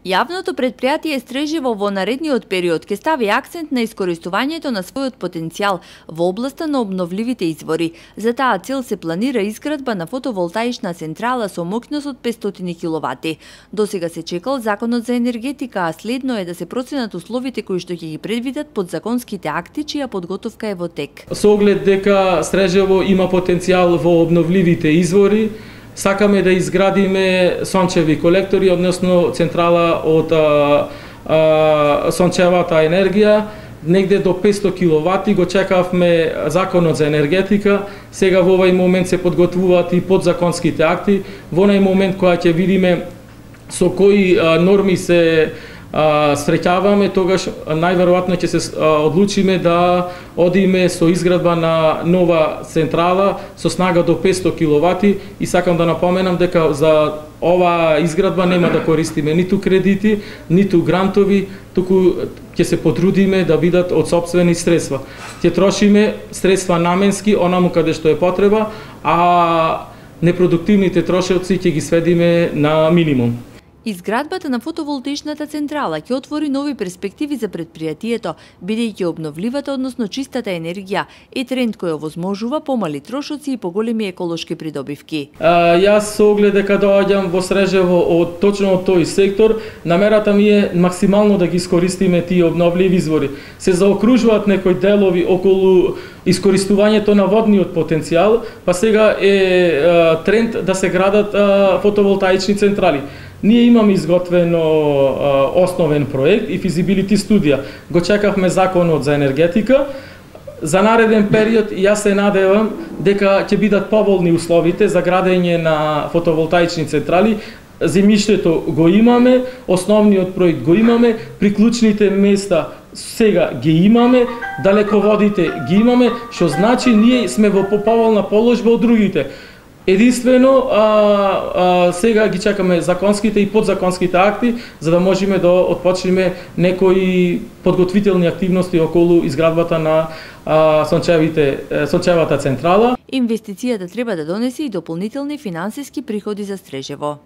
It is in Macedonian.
Јавното предпријатие Стрежево во наредниот период ќе стави акцент на искористувањето на својот потенцијал во областа на обновливите извори. За таа цел се планира изградба на фотоволтаична централа со моќност од 500 киловати. Досега се чекал законот за енергетика, а следно е да се проценат условите кои што ќе ги предвидат подзаконските акти, чија подготовка е во тек. Со оглед дека Стрежево има потенцијал во обновливите извори, сакаме да изградиме сончеви колектори, односно централа од сончевата енергија, негде до 500 киловати. Го чекавме законот за енергетика, сега во овој момент се подготвуваат и подзаконските акти. Во онај момент кога ќе видиме со кои норми се среќаваме, тогаш најверојатно ќе се одлучиме да одиме со изградба на нова централа со снага до 500 киловати и сакам да напоменам дека за ова изградба нема да користиме ниту кредити, ниту грантови, туку ќе се потрудиме да бидат од сопствени средства. Ќе трошиме средства наменски онаму каде што е потреба, а непродуктивните трошоци ќе ги сведиме на минимум. Изградбата на фотоволтаичната централа ќе отвори нови перспективи за предпријатието, бидејќи обновливата, односно чистата енергија е тренд кој овозможува помали трошоци и поголеми еколошки придобивки. Јас со оглед дека доаѓам во Стрежево од точно од тој сектор, намерата ми е максимално да ги искористиме тие обновливи извори. Се заокружуваат некои делови околу искористувањето на водниот потенцијал, па сега е тренд да се градат фотоволтаични централи. Ние имаме изготвено основен проект и физибилити студија. Го чекавме законот за енергетика. За нареден период јас се надевам дека ќе бидат поволни условите за градење на фотоволтаични централи. Земјиштето го имаме, основниот проект го имаме, приклучните места сега ги имаме, далеководите ги имаме, што значи ние сме во поповолна положба од другите. Единствено, сега ги чекаме законските и подзаконските акти, за да можеме да отпочнеме некои подготвителни активности околу изградбата на сончевата централа. Инвестицијата треба да донесе и дополнителни финансиски приходи за Стрежево.